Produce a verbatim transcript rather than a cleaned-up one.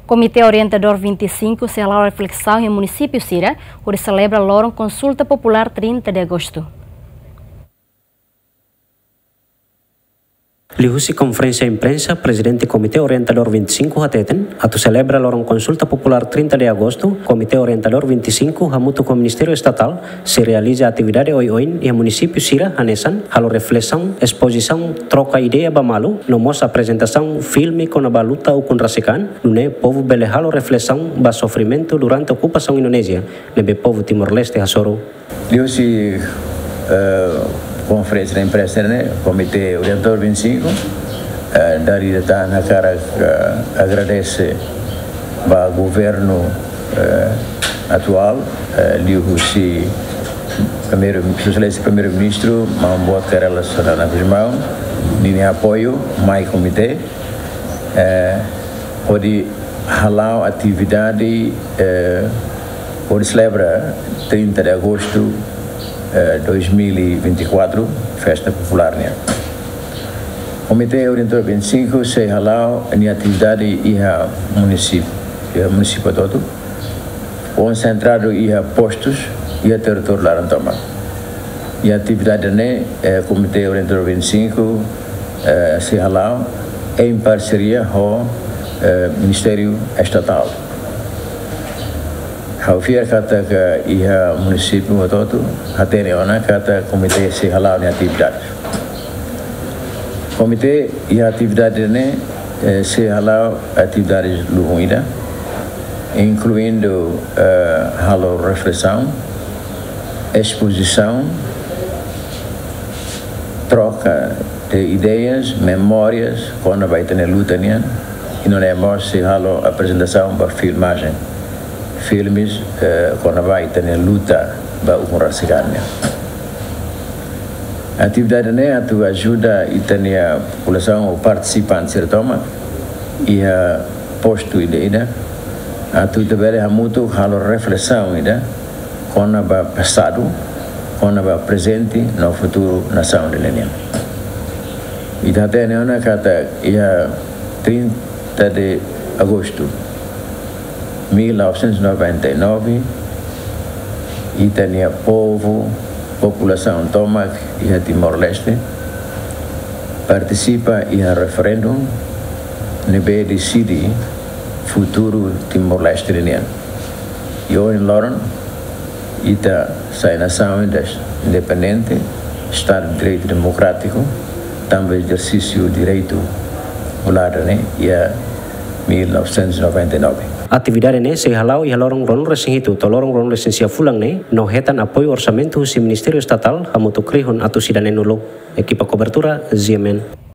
Komité Orientadór vinte e cinco sei hala'o reflesaun iha munisípiu sira, hodi selebra loron konsulta populár trinta de agostu. Liuhusi konferénsia imprensa, Prezidente Komité Orientadór vinte e cinco hateten, atu selebra loron konsulta populár trinta de agostu, Komité Orientadór vinte e cinco hamutuk ho Ministériu Estatál sei realiza atividade oioin iha munisípiu sira hanesan halo reflesaun, espozisaun, troka ideia ba malu, no mós aprezentasaun filme kona-ba luta ukun rasik an, nune'e povu bele halo reflesaun ba sofrimentu durante okupasaun Indonézia ne'ebé povu Timor-Leste hasoru. Liuhusi, eh, konferénsia imprensa ne'e, Komité Orientadór vinte e cinco, eh, dala ida tan hakarak, eh, agradese ba governu, eh, atuál, eh, liuhusi Primeiru, Sua Exelénsia Primeiru-Ministru, Maun Boot Kay Rala Xanana Gusmão, ninia apoiu mai komité, eh, hodi hala'o atividade, eh, hodi selebra trinta de agostu, eh, dois mil e vinte e quatro, festa populár nian. Komité Orientadór vinte e cinco sei hala'o nia atividade iha munisípiu, iha munisípiu hotu-hotu, konsentradu iha postus iha territóriu laran tomak. Iha atividade ne'e, eh, Komité Orientadór vinte e cinco, eh, sei hala'o em parceria ho, eh, Ministériu Estatál. Ha'u fiar katak iha munisípiu hotu-hotu hatene ona katak komité sei hala'o nia atividade. Komité iha atividade ne'e, eh, sei hala'o atividade lubun ida, inkluindu, eh, halo reflesaun, espozisaun, troka de ideias, memórias kona-ba ita-nia luta nian, i nune'e mós sei halo aprezentasaun ba filmajen, filmes, eh, kona-ba ita-nia luta ba ukun rasik an nian. Atividade ne'e atu ajuda ita-nia populasaun ou partisipante sira tomak iha postu ida-idak atu ita bele hamutuk halo reflesaun ida kona-ba pasadu, kona-ba prezente no futuru nasaun ida-ne'e nian. Ita hatene ona katak iha trinta de agostu mil novecentos e noventa e nove, ita-nia povu, populasaun tomak iha Timor-Leste partisipa iha referendu ne'ebé deside futuru Timor-Leste nian. I ohin loron, ita sai nasaun ida independente, Estadu de Direitu Demokrátiku, tanba ezersísiu direitu popular ne'e iha mil novecentos e noventa e nove. Atividade ne'e sei hala'o iha loron ruanulu-resin-hitu to'o loron ruanulu-resin-sia fulan ne'e, no hetan apoiu orsamentu husi Ministériu Estatál hamutuk rihun atus ida neenulu. Ekipa kobertura, G M N.